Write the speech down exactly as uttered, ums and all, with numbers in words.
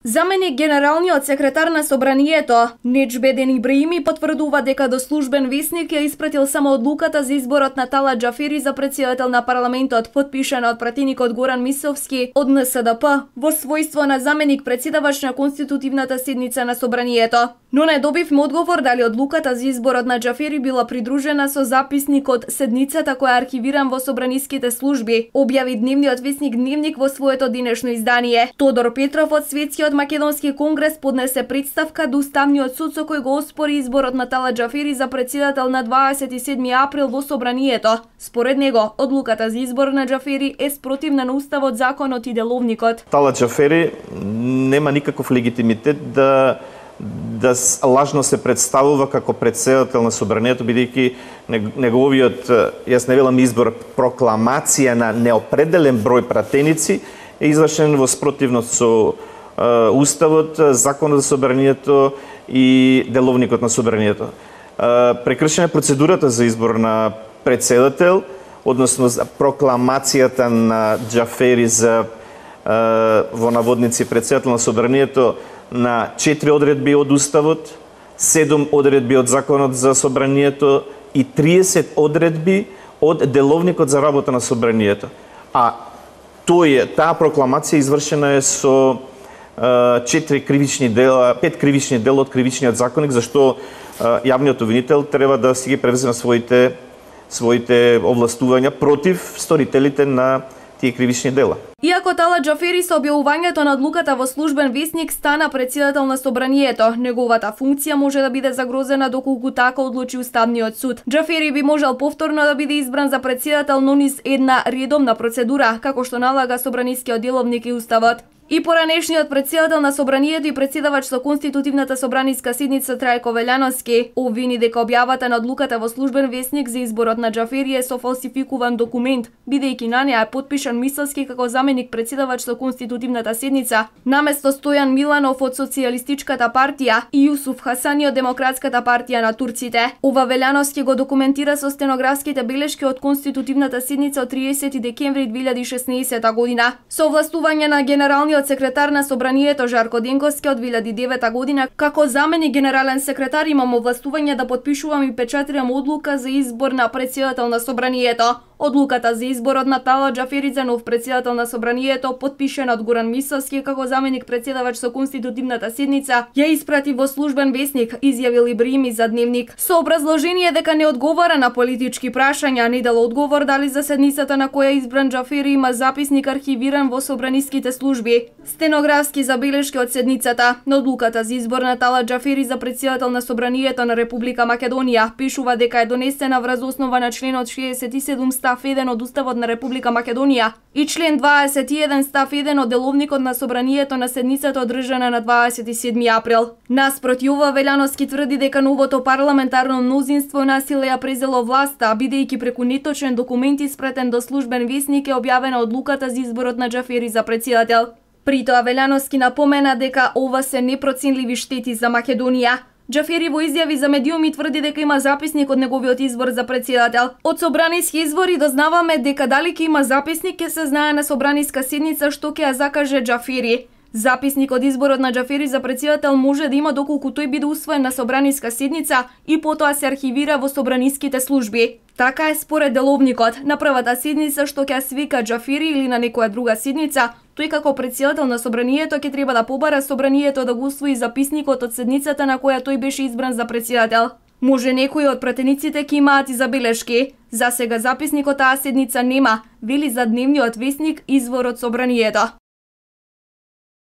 Заменик генералниот секретар на Собранието, Неџбеден Ибраими, потврдува дека до службен весник ја испратил само одлуката за изборот на Талат Џафери за претседател на парламентот, потпишана од пратеникот Горан Мисовски од Н С Д П во својство на заменик претседавач на конститутивната седница на Собранието. Но не добивме одговор дали одлуката за изборот на Џафери била придружена со записник од седницата која е архивиран во собраниските служби, објави дневниот весник Дневник во своето денешно издание. Тодор Петров од Светскиот Македонски конгрес поднесе представка до Уставниот суд со кој го оспори изборот на Талат Џафери за претседател на дваесет и седми април во Собранието. Според него, одлуката за избор на Џафери е спротивна на Уставот, законот и деловникот. Талат Џафери нема никаков легитимитет да да лажно се представува како претседател на Собранието, бидејќи неговиот, јас не велам избор, прокламација на неопределен број пратеници е извршен во спротивност со uh, Уставот, законот за Собранието и деловникот на Собранието. Uh, прекршена процедурата за избор на претседател, односно прокламацијата на Џафери за uh, во наводници претседател на Собранието на четири одредби од Уставот, седум одредби од законот за Собранието и триесет одредби од деловникот за работа на Собранието. А тој е, таа прокламација извршена е со четири кривични дела, пет кривични дела од кривичниот законник, зашто јавниот обвинител треба да си ги превземе своите своите овластувања против сторителите на тие кривични дела. Иако Талат Џафери со објавувањето на одлуката во службен весник стана претседател на Собранието, неговата функција може да биде загрозена доколку така одлучи Уставниот суд. Џафери би можел повторно да биде избран за претседател, но низ една редовна процедура, како што налага Собранискиот деловник и Уставот. И поранешниот претседател на Собранието и претседавач со конститутивната собраниска седница Трајко Велјановски обвини дека објавата на одлуката во службен весник за изборот на Џафери е со фалсификуван документ, бидејќи на неа е потпишан Мисовски како заменик претседавач со конститутивната седница, наместо Стојан Миланов од Социјалистичката партија и Јусуф Хасани од Демократската партија на турците. Ова Велјановски го документира со стенографските белешки од конститутивната седница од триесети декември две илјади и шеснаесета година. Со овластување на генералниот секретар на Собранието Жарко Денковски од две илјади и девета година, како заменик генерален секретар имам овластување да потпишувам и печатирам одлука за избор на претседател на Собранието. Одлуката за изборот на Талат Џафери за нов претседател на Собранието, потпишена од Горан Мисовски како заменик претседавач со конститутивната седница, ја испрати во службен весник, изјавил Ибраими за Дневник, со образложение дека не одговара на политички прашања, не дал одговор дали за седницата на која избран Џафери има записник архивиран во собраниските служби. Стенографски забелешки од седницата на одлуката за избор на Талат Џафери за претседател на Собранието на Република Македонија пишува дека е донесена врз основа на членот шеесет и седум став еден од Уставот на Република Македонија и член дваесет и еден став еден од деловникот на Собранието на седницата одржана на дваесет и седми април. Наспроти ова, Велјановски тврди дека новото парламентарно мнозинство насиле ја презело власта, бидејќи преку неточен документ испратен до службен весник е објавена одлуката за изборот на Џафери за претседател. При тоа Велјановски напомена дека ова се непроценливи штети за Македонија. Џафери во изјави за медиуми тврди дека има записник од неговиот избор за претседател. Од собраниски извори дознаваме дека дали ќе има записник ќе се знае на собраниска седница што ќе ја закаже Џафери. Записник од изборот на Џафери за претседател може да има доколку тој биде усвоен на собраниска седница и потоа се архивира во собраниските служби. Така е според деловникот. На првата седница што ќе свика Џафери или на некоја друга седница, тој како претседател на Собранието ќе треба да побара Собранието да го усвои записникот од седницата на која тој беше избран за претседател. Може некои од пратениците ќе имаат и забелешки. За сега записникот таа седница нема, вели за Дневниот весник извор од Собранието.